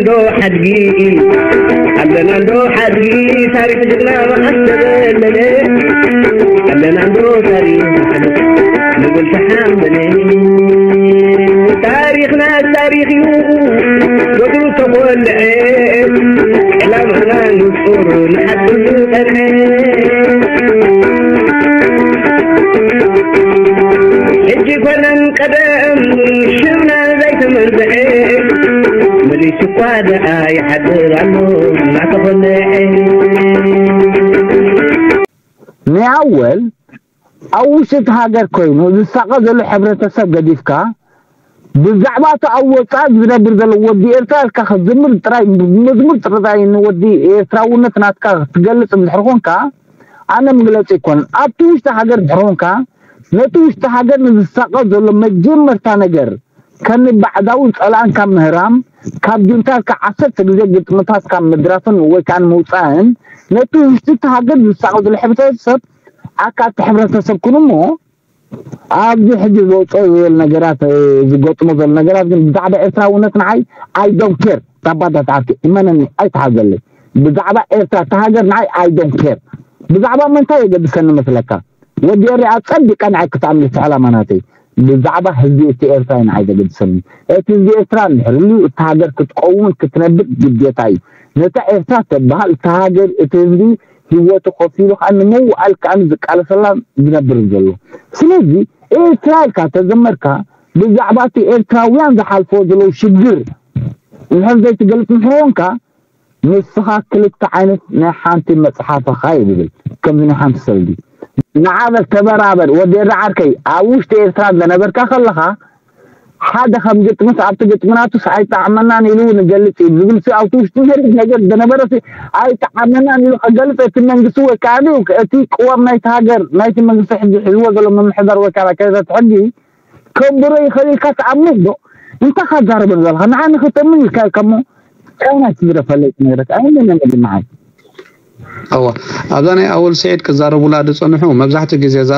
ዶ ሓድጊ ኣለና ዶ ሓድጊ ታሪኽ ጅግና መዓስ ተበለለ ኣለና ዶ ታሪኽ ንብል ተሓንበለ ታሪኽና ታሪኽ እዩ ወትሩ ተኾልዐ ዕላማና ንጹር ንሓድር ዝጸንሐ ሕጂ ኮነን ቀደም ሽምና ዘይተመንዝዐ መሊሱ እኳ ደኣ ይሓድር ኣሎ እናተኾልዐ ንኣወል ኣብ ውሽጢ እቲ ሃገር ኮይኑ ዝሳቐ ዘሎ ሕብረተሰብ ገዲፍካ ብዛዕባ እቲ ኣብ ወፃኢ ዝነብር ዘሎ ወዲ ኤርትራ ኢልካ ክትዝምር ጥራይ መዝሙር ጥራይ ንወዲ ኤርትራውነት ናትካ ክትገልፅ እንድሕር ኮንካ ኣነ መግለፂ ይኮን ኣብቲ ውሽጢ ሃገር እንድሕር ኮንካ ነቲ ውሽጢ ሃገር ንዝሳቐ ዘሎ መጀመርታ ነገር ከኒ ባዕዳዊ ፀላእን ካብ ምህራም ካብ ጁንታ ኢልካ ዓሰርተ ግዜ ግጥምታት ካብ ምድራፍን ወይ ከዓ ምውፃእን ነቲ ውሽጢ እቲ ሃገር ዝሳቐ ዘሎ ሕብረተሰብ ኣካል እቲ ሕብረተሰብ ኩን እሞ ኣብዚ ሕጂ ዘውፅኦ ዝብል ነገራት ዝገጥሞ ዘሎ ነገራት ግን ብዛዕባ ኤርትራውነት ንዓይ I don't care ታባታት ዓርኪ እመነኒ ኣይትሓዘለይ ብዛዕባ ኤርትራ እቲ ሃገር ንዓይ I don't care ብዛዕባ መንታይ የገድሰኒ መስለካ ወዲ ኤርትራ ጸቢቀ ንዓይ ክተኣምልቲ ዕላማ ናተይ ብዛዕባ ህዝቢ እቲ ኤርትራ ንዓይ ዘገድሰኒ እቲ ህዝቢ ኤርትራ እንድሕር ልዩ እቲ ሃገር ክትቀውምን ክትነብር ግዴታ እዩ ነታ ኤርትራ ተበሃል እቲ ሃገር እቲ ህዝቢ ህይወቱ ከፊሉ ከዓ ንምውዓል ከዓ ዝቃለሰላ ዝነብር ዘሎ ስለዚ ኤርትራ ኢልካ ተዘመርካ ብዛዕባ እቲ ኤርትራውያን ዝሓልፎ ዘለዉ ሽግር እንድሕር ዘይትገልፅ እንተኾንካ ንስኻ ክልተ ዓይነት ናይ ሓንቲ መፅሓፍ ኢኻ እዩ ዝብል ከምዚ ናይ ሓንቲ ሰልዲ ንዓበል ተበራበር ወዲ ኤረ ዓርከይ ኣብ ውሽጢ ኤርትራ ዝነበርካ ከለኻ ሓደ ከም ግጥምስ ኣብቲ ግጥምናቱስ ኣይጣዕመናን ኢሉ ንገልፅ እዩ ዝብል ሲ ኣብቲ ውሽጢ መሬት ነገር ዝነበረ ሲ ኣይጣዕመናን ኢሉ ከገልፅ እቲ መንግስቲ ወይ ከዓ እቲ ቅዋም ናይቲ ሃገር ናይቲ መንግስቲ ሕዚ ሒዝዎ ዘሎ ምምሕዳር ወይ ከዓ ኣካይዳት ሕጊ ከንብሮ ይኽእል ኢልካ ትኣምን ዶ? እንታይ ካዛረበን ዘለኻ ንዓ ንክተምን ኢልካ ኢልካ እሞ ቻይና ትዝረፈለይ ትነግረካ ኣይመን መድምዓይ እዋ ኣብዛ ናይ ኣወል ስዒድ ክዛረቡላ ዝፀንሑ መብዛሕትኡ ግዜ እዛ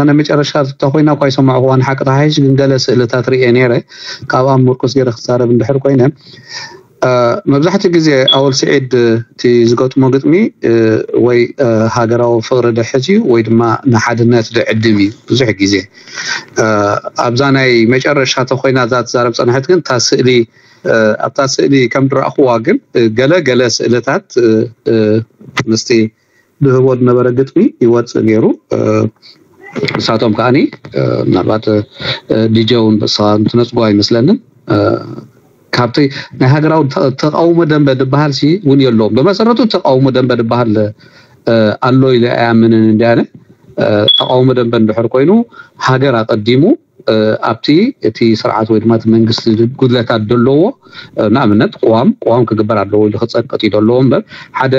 ናይ መጨረሻ ተኮይና እኳ ይሰማዕኩዋ ንሓቂ ተሓይሽ ግን ገለ ስእልታት ርኤ ነይረ ካብኣ ምርኩስ ገይረ ክዛረብ እንድሕር ኮይነ መብዛሕትኡ ግዜ ኣወል ስዒድ እቲ ዝገጥሞ ግጥሚ ወይ ሃገራዊ ፍቕሪ ድሕት እዩ ወይ ድማ ንሓድነት ድዕድም እዩ ብዙሕ ግዜ ኣብዛ ናይ መጨረሻ ተኮይና እዛ ትዛረብ ፀንሐት ግን እታ ስእሊ ኣብታ ስእሊ ከም ድረእኽዋ ግን ገለ ገለ ስእልታት ምስቲ ድህቦ ዝነበረ ግጥሚ ይወፅእ ገይሩ ንሳቶም ከዓኒ ምናልባት ዲጀ እውን በስኻ እንትነፅጎ ኣይመስለንን ካብቲ ናይ ሃገራዊ ተቃውሞ ደንበ ዝበሃል ሲ እውን የለዎም ብመሰረቱ ተቃውሞ ደንበ ዝበሃል ኣሎ ኢለ ኣያምንን እንዲያነ ተቃውሞ ደንበ እንድሕር ኮይኑ ሃገር ኣቀዲሙ ኣብቲ እቲ ስርዓት ወይ ድማ እቲ መንግስቲ ጉድለታት ዘለዎ ንኣብነት ቅዋም ቅዋም ክግበር ኣለዎ ኢሉ ክፀቅጥ እዩ ዘለዎ እምበር ሓደ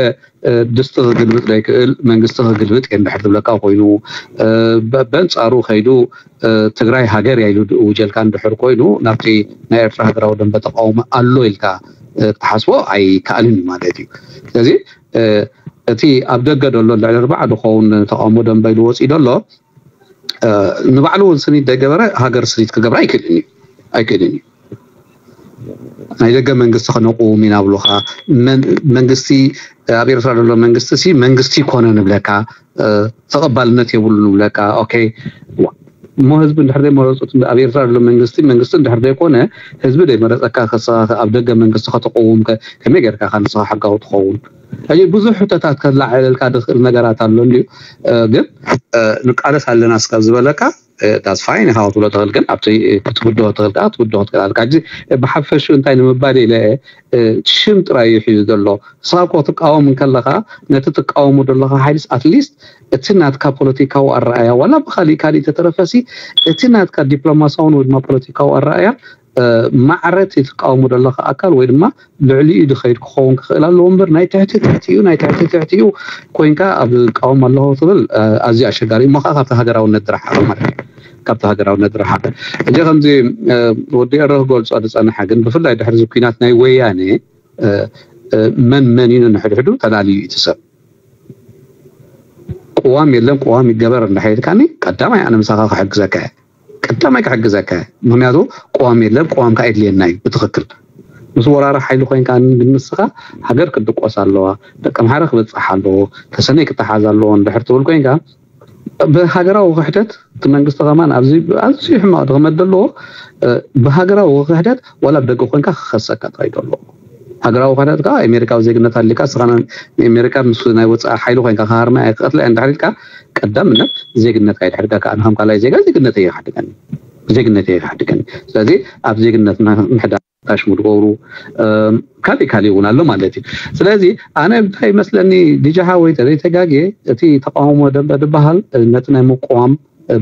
ድስቲ ክግልብጥ ዘይክእል መንግስቲ ክግልብጥ እየ እንድሕር ዝብለካ ኮይኑ በንፃሩ ከይዱ ትግራይ ሃገር እያ ኢሉ ውጀልካ እንድሕር ኮይኑ ናብቲ ናይ ኤርትራ ሃገራዊ ደንበ ተቃውሞ ኣሎ ኢልካ ክትሓስቦ ኣይከኣልን እዩ ማለት እዩ ስለዚ እቲ ኣብ ደገ ዘሎ ልዕሊ ኣርባዓ ዝኸውን ተቃውሞ ደንበ ኢሉ ወፂኡ ዘሎ ንባዕሉ እውን ስኒት ደይገበረ ሃገር ስኒት ክገብራ ኣይክእልን እዩ ኣይክእልን እዩ ናይ ደገ መንግስቲ ከነቁም ኢና ብሉካ መንግስቲ ኣብ ኤርትራ ዘሎ መንግስቲ ሲ መንግስቲ ይኮነ ንብለካ ተቐባልነት የብሉ ንብለካ ኦኬ እሞ ህዝቢ እንድሕር ዘይመረፁት ኣብ ኤርትራ ዘሎ መንግስቲ መንግስቲ እንድሕር ዘይኮነ ህዝቢ ዘይመረፀካ ከስኻ ኣብ ደገ መንግስቲ ከተቀውም ከመይ ጌርካ ንስኻ ሕጋዊ ትኸውን ሕጂ ብዙሕ ሕቶታት ከላዓዕለልካ ዝኽእል ነገራት ኣሎ እንድዩ ግን ንቃለስ ኣለና እስካብ ዝበለካ that's fine ኢኻ ክትብሎ ትኽእል ግን ኣብቲ ክትብድሆ ትኽእል ከዓ ክትብድሆ ትኽእል ኣለካ ሕጂ ብሓፈሹ እንታይ ንምባል ኢለ ሽም ጥራይ እዩ ሒዙ ዘሎ ንስኻ እኮ ትቃወም እንከለኻ ነቲ ትቃወሞ ዘለኻ ሓይልስ ኣትሊስት እቲ ናትካ ፖለቲካዊ ኣረኣያ ዋላ ብካሊእ ካሊእ ተተረፈሲ እቲ ናትካ ዲፕሎማሲያውን ወይ ድማ ፖለቲካዊ ኣረኣያ ማዕረ እቲ ትቃወሞ ዘለኻ ኣካል ወይ ድማ ልዕሊኡ ዝኸይድ ክኸውን ክኽእል ኣለዎ እምበር ናይ ትሕቲ ትሕቲኡ ናይ ትሕቲ ትሕቲኡ ኮይንካ ኣብ ቃወም ኣለኹ ትብል ኣዝዩ ኣሸጋሪ እሞ ከዓ ካብቲ ሃገራውነት ዝረሓቐ ማለት እዩ ካብቲ ሃገራውነት ዝረሓቐ ሕጂ ከምዚ ወዲ ኤረ ክገልፆ ዝፀንሐ ግን ብፍላይ ድሕሪ እዚ ኩናት ናይ ወያነ መን መን እዩ ነንሕድሕዱ ተላልዩ እዩ እቲ ሰብ ቅዋም የለን ቅዋም ይገበር እንዳሓይልካኒ ቀዳማይ ኣነ ምሳኻ ክሕግዘካ እየ ቀዳማይ ክሕግዘካ እየ ምክንያቱ ቅዋም የለን ቅዋም ከዓ የድልየና እዩ ብትክክል ምስ ወራሪ ሓይሊ ኮይንካ ግን ንስኻ ሃገር ክትድቆስ ኣለዋ፣ ደቂ ኣምሓራ ክበፅሕ ኣለዎ፣ ተሰነይ ክተሓዝ ኣለዎ እንድሕር ትብል ኮይንካ ብሃገራዊ ክሕደት እቲ መንግስቲ ከማን ኣብዚ ኣዝዩ ሕማቕ ድኽመት ዘለዎ ብሃገራዊ ክሕደት ዋላ ብደገ ኮይንካ ክኸሰካ ጥራይ ኣለዎ። ሃገራዊ ክሕደት ከዓ ኣሜሪካዊ ዜግነት ኣሊካ ስኻ ንኣሜሪካ ምስ ናይ ወፃኢ ሓይሊ ኮይንካ ክሃርማ እየ ክቐትላ እየ እንድሕር ኢልካ ቀዳምነት ዜግነትካ ይድሕድገካ። ኣነ ከም ካልኣይ ዜጋ ዜግነት እየ ይሓድገኒ ዜግነት እየ ይሓድገኒ። ስለዚ ኣብ ዜግነትና ምሕዳር ታሽሙ ድገብሩ ካልእ ካልእ እውን ኣሎ ማለት እዩ። ስለዚ ኣነ እንታይ ይመስለኒ ዲጃ ሓወይ ተዘይተጋግየ እቲ ተቃውሞ ደንበ ዝበሃል ነቲ ናይ ምቅዋም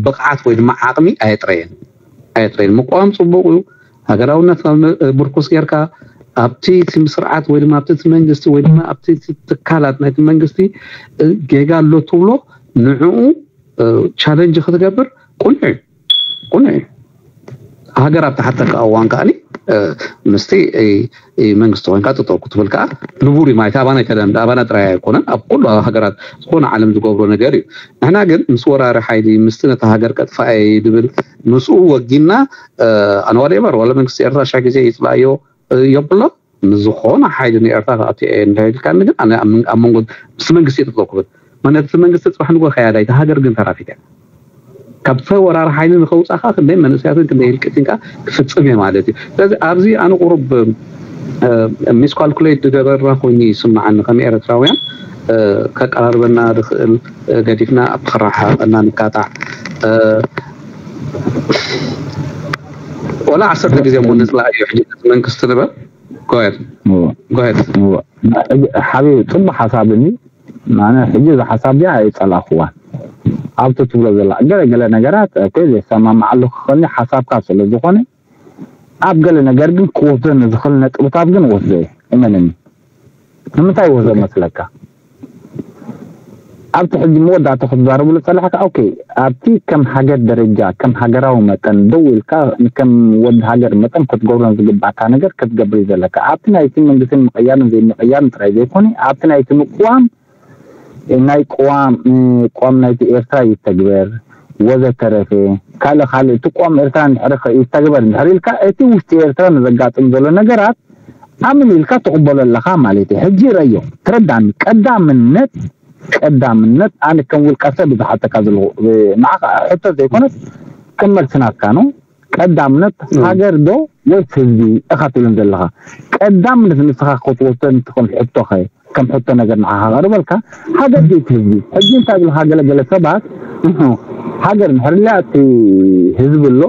ብቕዓት ወይ ድማ ዓቕሚ ኣየጥረየን ኣየጥረየን። ምቅዋም ፅቡቅ እዩ። ሃገራውነት ምርኩስ ጌርካ ኣብቲ ስርዓት ወይ ድማ ኣብቲ መንግስቲ ወይ ድማ ኣብቲ ትካላት ናይቲ መንግስቲ ጌጋ ኣሎ ትብሎ ንዕኡ ቻለንጅ ክትገብር ቁኑዕ እዩ። ቁኑዕ እዩ። ሃገር ኣብ ተሓተካ እዋን ከዓኒ ምስቲ መንግስቲ ኮይንካ ጠጠው ክትብል ከዓ ንቡር እዩ ማለት ኣባና ኣይተለምደ ኣባና ጥራይ ኣይኮነን ኣብ ኩሉ ሃገራት ዝኾነ ዓለም ዝገብሮ ነገር እዩ። ንሕና ግን ምስ ወራሪ ሓይሊ ምስቲ ነታ ሃገር ከጥፋኣ እዩ ድብል ምስኡ ወጊና ኣነ ዋላ ኤቨር ዋላ መንግስቲ ኤርትራ ሻ ግዜ ይፅላእዮ የብሎ ንዝኾነ ሓይሊ ንኤርትራ ክኣትዮ እየ እንድሕር ኢልካኒ ግን ኣነ ኣብ መንጎ ምስ መንግስቲ እየ ጠጠው ክብል ማለት እቲ መንግስቲ ፅባሕ ንጎ ከያዳ እታ ሃገር ግን ተራፊት እያ። ካብ ተወራሪ ሓይሊ ንኸውፃእካ ክንደይ መንእሰያትን ክንደይ ህልቂትን ከዓ ክፍፅም እየ ማለት እዩ። ስለዚ ኣብዚ ኣነ ቁሩብ ሚስኳልኩሌት ዝገበርና ኮይኑ ይስምዓኒ ከም ኤርትራውያን ከቀራርበና ዝኽእል ገዲፍና ኣብ ክራሓ እና ንካታዕ ወላ ዓሰርተ ግዜ እሞ ንፅላእ እዩ ሕጂ መንግስቲ ንበል ጎየድ ጎየድ ሓቢቢ ፅቡቅ ሓሳብ እኒ ኣነ ሕጂ እዚ ሓሳብ እዚኣ ኣይፀላእክዋን ኣብቲ ትብሎ ዘላ ገለ ገለ ነገራት እኮ ዘሰማምዓሉ ክኽእልኒ ሓሳብካ ስለ ዝኾነ ኣብ ገለ ነገር ግን ክወስዶ ንዝኽእል ነጥብታት ግን ወስዶ እየ እመነኒ ንምንታይ ወስዶ መስለካ ኣብቲ ሕጂ መወዳእታ ክትዛረብሉ ፀላሕካ ኦኬ ኣብቲ ከም ሃገር ደረጃ ከም ሃገራዊ መጠን ደው ኢልካ ከም ወዲ ሃገር መጠን ክትገብሮን ዝግባእካ ነገር ክትገብር እዩ ዘለካ ኣብቲ ናይቲ መንግስትን ምቅያርን ዘይምቅያርን ጥራይ ዘይኮነ ኣብቲ ናይቲ ምቅዋም ናይ ቅዋም ቅዋም ናይቲ ኤርትራ ይተግበር ወዘተረፈ ካልእ ካልእ እቲ ቅዋም ኤርትራ እንድሕር ይተግበር እንድሕር ኢልካ እቲ ውሽጢ ኤርትራ ንዘጋጥም ዘሎ ነገራት ኣምን ኢልካ ትቕበሎ ኣለኻ ማለት እዩ። ሕጂ ረዮ ትረዳኒ ቀዳምነት ቀዳምነት ኣነ ከም ውልቀ ሰብ ዝሓተካ ዘለኹ ንዓኻ ሕቶ ዘይኮነስ ከም መልሲ ናትካ ነው። ቀዳምነት ሃገር ዶ ወይስ ህዝቢ ኢኻ ትብልን ዘለኻ ቀዳምነት ንስኻ ክትወስዶ እንትኾን ሕቶኸ ከም ሕቶ ነገር ንዓኻ ቀርበልካ ሃገር ድዩ ህዝቢ ሕጂ እንታይ ብልካ ገለገለ ሰባት ሃገር እንድሕር ኢልያ እቲ ህዝቢ ኣሎ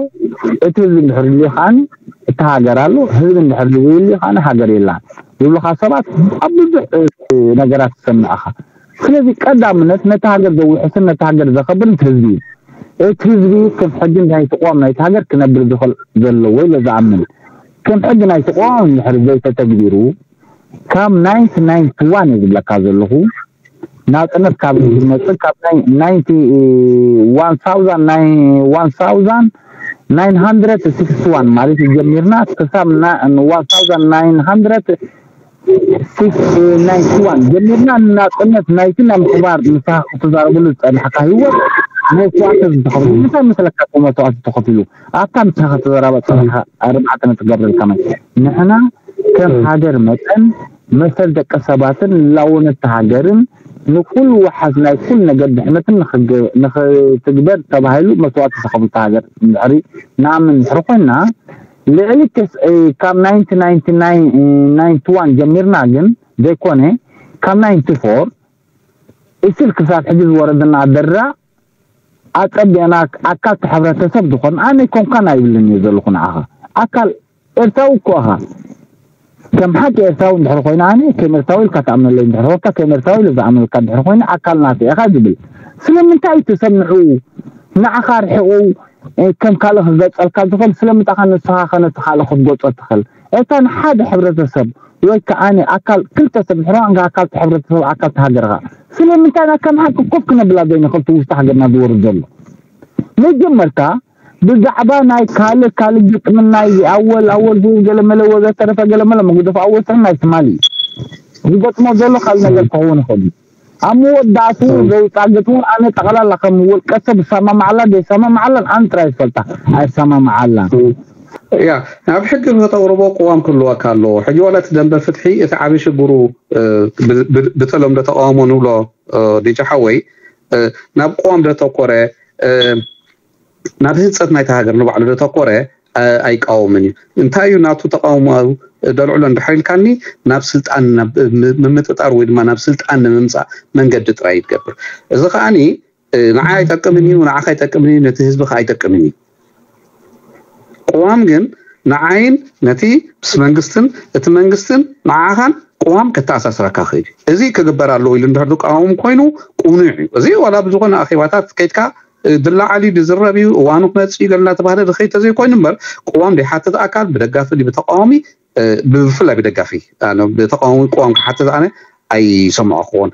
እቲ ህዝቢ እንድሕር ኢልዩ ከዓኒ እቲ ሃገር ኣሎ ህዝቢ እንድሕር ዘይልዩ ከዓኒ ሃገር የላን ዝብሉኻ ሰባት ኣብ ብዙሕ ነገራት ትሰምዕ ኢኻ ስለዚ ቀዳምነት ነቲ ሃገር ዘውሕስን ነቲ ሃገር ዘኸብርን እቲ ህዝቢ እዩ እቲ ህዝቢ ከም ሕጊ ናይቲ ቅዋም ናይቲ ሃገር ክነብር ዝኽእል ዘለዎ ኢለ ዝኣምን ከም ሕጊ ናይቲ ቅዋም እንድሕር ዘይተተግቢሩ ካብ ናይንቲ ናይንቲ ዋን እየ ዝብለካ ዘለኹ ናፅነት ካብ ዝመፅእ ካብ ናይ ናይንቲ ዋን ሳውዛን ናይ ዋን ሳውዛን ናይን ሃንድረድ ሲክስቲ ዋን ማለት እዩ ጀሚርና ክሳብ ዋን ሳውዛን ናይን ሃንድረድ ሲክስ ናይንቲ ዋን ጀሚርና ናፅነት ናይቲ ናይ ምሕባር ንስኻ ክትዛረበሉ ዝፀናሕካ ህይወት መስዋእቲ ዝተኸፍሉ ምንታይ መስለካ እቲ መስዋእቲ ተኸፊሉ ኣብታ ንስኻ ክትዘራባ ፀናሕካ ኣርባዕተ ነጥቢ ገብረልካ ማለት ንሕና ከም ሃገር መጠን መሰል ደቂ ሰባትን ልላውነት ሃገርን ንኩሉ ወሓዝ ናይ ኩሉ ነገር ድሕነትን ንክትግበር ተባሂሉ መስዋእቲ ዝተኸፍሉ ሃገር እንድሕሪ ንኣምን እንድሕሪ ኮይና ልዕሊ ካብ ናይንቲ ናይንቲ ናይንቲ ዋን ጀሚርና ግን ዘይኮነ ካብ ናይንቲ ፎር እስል ክሳብ ሕጂ ዝወረደና ደራ ኣፀቢቕና ኣካል ሕብረተሰብ ዝኾን ኣነ ኮንካን ኣይብልን እየ ዘለኹ ንዓኻ ኣካል ኤርትራዊ እኮ ኢኻ ከም ሓቂ ኤርትራዊ እንድሕር ኮይነ ኣነ ከም ኤርትራዊ ኢልካ ትኣምነለይ እንድሕር ኮንካ ከም ኤርትራዊ ኢለ ዝኣምነልካ እንድሕር ኮይነ ኣካል ናተይ ኢኻ ዝብል ስለምንታይ እዩ ተሰምዑ ንዓኻ ርሒቑ ከም ካልእ ክገፀልካ ዝኽእል ስለምንታይ ኸ ንስኻ ኸ ነቲ ካልእ ክትገፆ ትኽእል እታ ንሓደ ሕብረተሰብ ወይ ከዓ ኣካል ክልተ ሰብ ድሕሪ ዋንካ ኣካል ሕብረተሰብ ኣካል ሃገርኻ ስለምንታይ ኢና ከም ሓቂ ኮፍ ክነብላ ዘይንኽእል እቲ ውሽጢ ሃገርና ዝወርድ ዘሎ መጀመርታ ብዛዕባ ናይ ካልእ ካልእ ግጥምን ናይ ኣወል ኣወል ዝብል ገለመለ ወዘተረፈ ገለመለ መጉደፍ ኣወል ስም ናይ ትማሊ እዩ ዝገጥሞ ዘሎ ካልእ ነገር ክኸውን ይኽእል እዩ ኣብ መወዳእቱ ዘውፃ ግጥሙ ኣነ ጠቕላላ ከም ውልቀ ሰብ ይሰማማዓላ ዘይሰማማዓላን ኣነ ጥራይ ዝፈልጣ ኣይሰማማዓላን ያ ናብ ሕጊ ከተቕርቦ ቅዋም ክህልወካ ኣለዎ። ሕጂ ዋላ እቲ ደንበ ፍትሒ እቲ ዓብዪ ሽግሩ ብተለምዶ ተቃውሞ ንብሎ ዲጃ ሓወይ ናብ ቅዋም ዘተኮረ ናብ ህንፀት ናይቲ ሃገር ንባዕሉ ዘተኮረ ኣይቃወምን እዩ። እንታይ እዩ ናቱ ተቃውሞ ደልዕሎ እንድሕር ኢልካኒ ናብ ስልጣን ምምጥጣር ወይ ድማ ናብ ስልጣን ንምምፃእ መንገዲ ጥራይ ይትገብር። እዚ ከዓኒ ንዓ ኣይጠቅምን እዩ፣ ንዓኻ ኣይጠቅምን እዩ፣ ነቲ ህዝቢ ከዓ ኣይጠቅምን እዩ። ቅዋም ግን ንዓይን ነቲ ምስ መንግስትን እቲ መንግስትን ንዓኻን ቅዋም ከተኣሳስረካ ክእል እዩ። እዚ ክግበር ኣለዎ ኢሉ እንድሕር ዝቃወም ኮይኑ ቅኑዕ እዩ። እዚ ዋላ ብዝኾነ ኣኼባታት ከይድካ ድላዓል እዩ ዝዝረብ እዩ፣ እዋኑ ክመፅእ እዩ ገለ እናተባህለ ዝኸይድ ተዘይኮይኑ እምበር ቅዋም ዘይሓትት ኣካል ብደጋፊ ድዩ ብተቃዋሚ ብፍላይ ብደጋፊ ተቃዋሚ ቅዋም ክሓትት ኣነ ኣይሰምዖ ክኾን።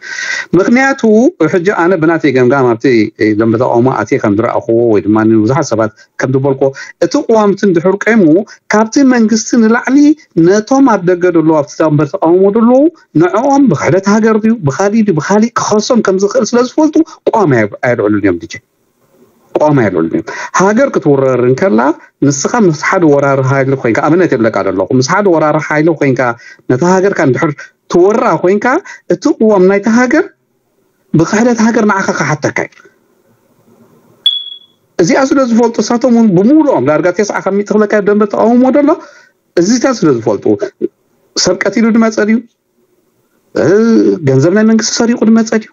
ምክንያቱ ሕጂ ኣነ ብናተይ ገምጋም ኣብቲ ደንበ ተቃውሞ ኣትየ ከም ዝረኣኽዎ ወይ ድማ ንብዙሓት ሰባት ከም ዝበልኮ እቲ ቅዋምቲ እንድሕር ቀይሙ ካብቲ መንግስቲ ንላዕሊ ነቶም ኣብ ደገ ደለዉ ኣብቲ ደንበ ተቃውሞ ደለዉ ንዕኦም ብክሕደት ሃገር ድዩ ብካሊእ ድዩ ብካሊእ ክኸሶም ከም ዝኽእል ስለ ዝፈልጡ ቅዋም ኣየልዕሉን እዮም ድጀ ቅዋም ኣየልዕሉን እዮም። ሃገር ክትውረር እንከላ ንስኻ ምስ ሓደ ወራሪ ሓይሊ ኮይንካ ኣብነት የብለካ ዘለኹ ምስ ሓደ ወራሪ ሓይሊ ኮይንካ ነታ ሃገርካ እንድሕር ትወራ ኮይንካ እቲ ቅዋም ናይቲ ሃገር ብክሕደት ሃገር ንዓኻ ክሓተካ እዩ። እዚኣ ስለ ዝፈልጡ እሳቶም እውን ብምሉኦም ዳርጋ ተስዓ ካብ ሚእቲ ክብለካ ደንበ ተቃውሞ ደሎ እዚታት ስለ ዝፈልጡ ሰብ ቀቲሉ ድመፀ ድዩ ገንዘብ ናይ መንግስቲ ሰሪቁ ድመፀ ድዩ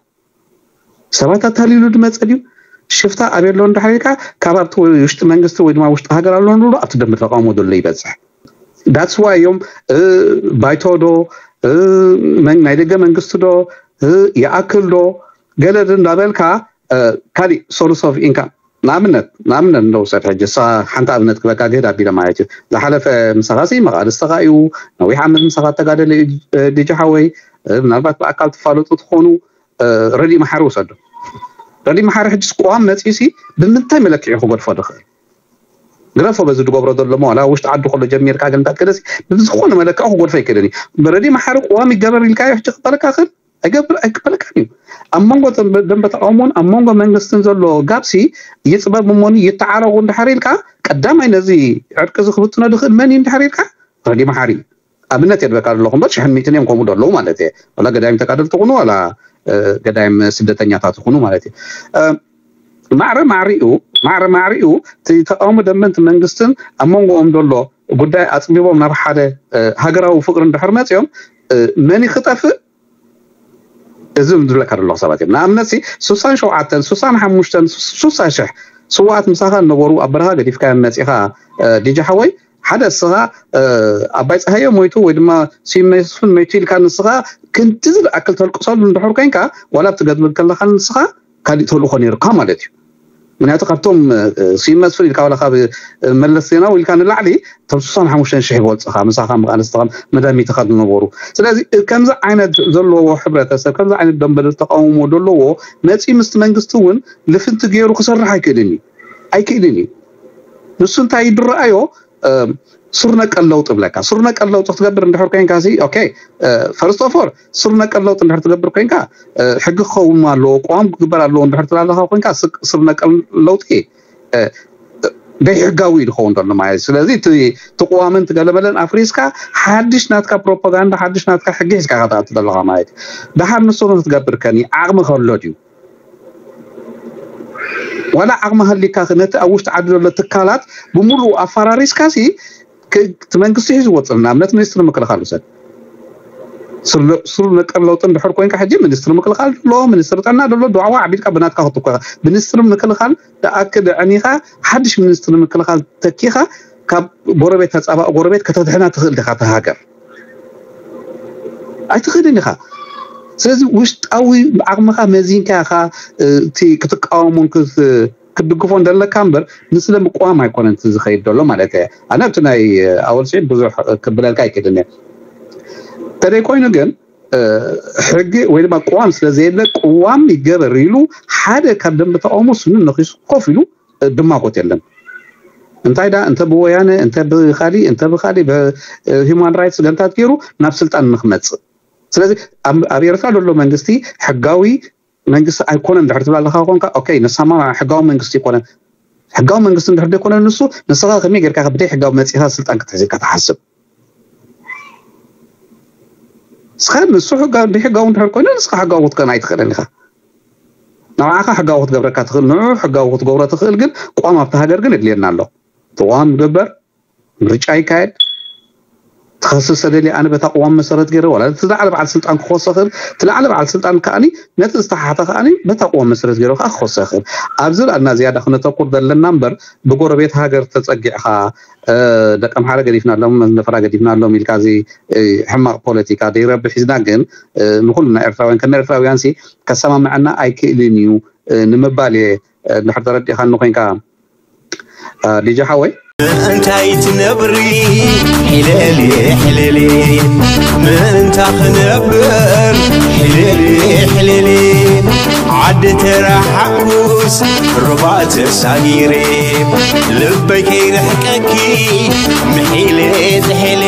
ሰባት ኣታሊሉ ድመፀ ድዩ ሽፍታ ኣበይ ኣሎ እንድሕር ኢልካ ካብ ኣብቲ ውሽጢ መንግስቲ ወይ ድማ ውሽጢ ሃገር ኣሎ ንብሎ ኣብቲ ደንበ ተቃውሞ ዘሎ ይበፅሕ። ዳትስ ዋይ እዮም ባይቶ ዶ ናይ ደገ መንግስቲ ዶ ይኣክል ዶ ገለ እንዳበልካ ካሊእ ሶርስ ኦፍ ኢንካም ንኣብነት ንኣብነት እንደውሰድ ሕጂ እሳ ሓንቲ ኣብነት ክበካ ግህድ ኣቢለ ማለት እዩ ዝሓለፈ ምሳኻ ሲ መቃልስተኻ እዩ ነዊሕ ዓመት ምሳኻ ተጋደለ እዩ ዲጂ ሓወይ ምናልባት ብኣካል ትፋለጡ ትኾኑ ረዲ መሓሪ ውሰዱ ረዲ መሓሪ ሕጂ ቅዋም መፂኡ ሲ ብምንታይ መለክዒ ክገድፎ ድኽእል ግረፎ በዚ ዝገብሮ ዘሎ ዋላ ውሽጢ ዓዲ ከሎ ጀሚርካ ግን እንታይ ክደሲ ብዝኾነ መለክዒ ክጎድፎ ይክእልን እዩ ረዲ መሓሪ ቅዋም ይገበር ኢልካ ሕጂ ክበለካ ክእል ኣይገብር ኣይክበለካን እዩ ኣብ መንጎ ደንበ ተቃውሞን ኣብ መንጎ መንግስትን ዘሎ ጋብሲ ይፅበብ እሞኒ ይተዓረቁ እንድሕር ኢልካ ቀዳማይ ነዚ ዕርቂ እዚ ክብጥኖ ዝኽእል መን እዩ እንድሕር ኢልካ ረዲ መሓሪ ኣብነት የድበካ ዘለኹ እምበር ሽሕን ሚእትን እዮም ከምኡ ዘለዉ ማለት እየ ዋላ ገዳይም ተጋደልቲ ይኹኑ ዋላ ገዳይም ስደተኛታት ይኹኑ ማለት እዩ ማዕረ ማዕሪኡ ማዕረ ማዕሪኡ እቲ ተቃውሞ ደንበንቲ መንግስትን ኣብ መንጎኦም ዘሎ ጉዳይ ኣፅቢቦም ናብ ሓደ ሃገራዊ ፍቅሪ እንድሕር መፅኦም መን ክጠፍእ እዚ ዝብለካ ዘለኹ ሰባት እዮም ንኣብነት ሲ ሱሳን ሸውዓተን ሱሳን ሓሙሽተን ሱሳ ሽሕ ስዋኣት ምሳኻ ዝነበሩ ኣብ በረኻ ገዲፍካዮም መፂኻ ዲጂ ሓወይ ሓደ እስኻ ኣባይ ፀሃየ ሞይቱ ወይ ድማ ስዩም መስፍን ሞይቱ ኢልካ ንስኻ ክንዲ ዝኣክል ተልቅሰሉ እንድሕር ኮይንካ ዋላ ኣብቲ ገድብል ከለኻ ንስኻ ካሊእ ተልእኾ ነይሩካ ማለት እዩ ምክንያቱ ካብቶም ስዩም መስፍን ኢልካ ዋላ ካብ መለስ ዜናዊ ኢልካ ንላዕሊ እቶም ስሳን ሓሙሽተን ሽሕ ይበልፅኻ ምሳኻ መቃልስትኻ መዳሚትኻ ዝነበሩ ስለዚ ከምዚ ዓይነት ዘለዎ ሕብረተሰብ ከምዚ ዓይነት ደንበ ተቃውሞ ዘለዎ መፂ ምስቲ መንግስቲ እውን ልፍንቲ ገይሩ ክሰርሕ ኣይክእልን እዩ ኣይክእልን እዩ ንሱ እንታይ ይድረኣዮ ስር ነቀል ለውጢ ብለካ ስር ነቀል ለውጢ ክትገብር እንድሕር ኮይንካ ሲ ኦኬ ፈርስት ኦፍ ኦል ስር ነቀል ለውጢ እንድሕር ትገብር ኮይንካ ሕጊ ክኸውን ኣለዎ ቅዋም ክግበር ኣለዎ እንድሕር ትብል ኣለካ ኮይንካ ስር ነቀል ለውጢ ደይ ሕጋዊ እዩ ዝኸውን ዘሎ ማለት ስለዚ እቲ ቅዋምን ትገለመለን ኣፍሪስካ ሓድሽ ናትካ ፕሮፓጋንዳ ሓድሽ ናትካ ሕጊ ሒዝካ ከተኣቱ ዘለካ ማለት እዩ ደሓር ንሱ ክትገብር ከኒ ዓቕሚ ከሎ ድዩ ዋላ ዓቕሚ ሃሊካ ነቲ ኣብ ውሽጢ ዓዲ ዘሎ ትካላት ብምሉኡ ኣፈራሪስካ ሲ እቲ መንግስቲ ሒዝዎ ፅር ንኣብነት ሚኒስትሪ ምክልኻል ውሰድ ስር ነቀል ለውጢ እንድሕር ኮይንካ ሕጂ ሚኒስትሪ ምክልኻል ዘሎ ሚኒስትሪ ጥዕና ዘሎ ድዋዕዋ ዓቢድካ ብናትካ ክትኮ ሚኒስትሪ ምክልኻል ደኣክል ዕኒኻ ሓድሽ ሚኒስትሪ ምክልኻል ተኪኻ ካብ ጎረቤት ተፃባእ ጎረቤት ከተድሕና ትኽእል ዲኻ ተሃገር ኣይትኽእልን ኢኻ ስለዚ ውሽጣዊ ዓቕምኻ መዚንካ ኢኻ እቲ ክትቃወሙን ክትድግፎ እንደለካ እምበር ንስለ ምቅዋም ኣይኮነን ዝኸይድ ዘሎ ማለት እየ ኣነ ኣብቲ ናይ ኣወል ስዒድ ብዙሕ ክብለልካ ኣይክእልን እየ ተደይ ኮይኑ ግን ሕጊ ወይ ድማ ቅዋም ስለ ዘየለ ቅዋም ይገበር ኢሉ ሓደ ካብ ደንበ ተቃውሞ ስኑ ነኪሱ ኮፍ ኢሉ ድማጎት የለን እንታይ ዳ እንተ ብወያነ እንተ ብካሊእ እንተ ብካሊእ ሂማን ራይትስ ገንታት ገይሩ ናብ ስልጣን ንክመፅእ ስለዚ ኣብ ኤርትራ ዘሎ መንግስቲ ሕጋዊ መንግስቲ ኣይኮነን ድሕር ትብል ኣለካ ኮንካ ኦኬ ንሳማ ሕጋዊ መንግስቲ ይኮነን ሕጋዊ መንግስቲ እንድሕር ዘይኮነ ንሱ፣ ንስኻ ከመይ ጌርካ ብደይ ሕጋዊ መጺኻ ስልጣን ክትሕዝ ኢልካ ትሓስብ? ንስኻ ንሱ ሕጋዊ ብሕጋዊ እንድሕር ኮይኑ ንስኻ ሕጋዊ ክትከውን ኣይትኽእልን ኢኻ። ንዓኻ ሕጋዊ ክትገብረካ ትኽእል፣ ንዑ ሕጋዊ ክትገብሮ ትኽእል፣ ግን ቅዋም ኣብቲ ሃገር ግን የድልየና ኣሎ። እቲ ቅዋም ይግበር፣ ምርጫ ይካየድ፣ ትኸስስ ተደልየ ኣነ በታ ቅዋም መሰረት ገይረ ዋላ እቲ ዝለዓለ በዓል ስልጣን ክኸሶ ይኽእል፣ እቲ ለዓለ በዓል ስልጣን ከኣኒ ነቲ ዝተሓተ ከኣኒ በታ ቅዋም መሰረት ገይረ ከዓ ክኸሶ ይኽእል። ኣብዚ ላልና ዝያዳ ክነተኩር ዘለና እምበር ብጎረቤት ሃገር ተጸጊዕኻ ደቂ ኣምሓራ ገዲፍና ኣሎም ነፈራ ገዲፍና ኣሎም ኢልካ እዚ ሕማቕ ፖለቲካ ደይረብሕ ሒዝና ግን ንኩሉ ናይ ኤርትራውያን ከም ኤርትራውያን ሲ ከሰማምዐና ኣይክእልን እዩ ንምባል እየ። እንድሕር ተረዲእኻኒ ኮይንካ ዲጂ ሓወይ። እንታይ ትነብሪ ሕለሊ ሕለሊ ምእንታ ክነብር ሕለሊ ሕለሊ ዓዲ ተረሓኩስ ሩባ ተሳጊሬ ልበይ ከይርሕቀኪ ምሒለ ትሕለ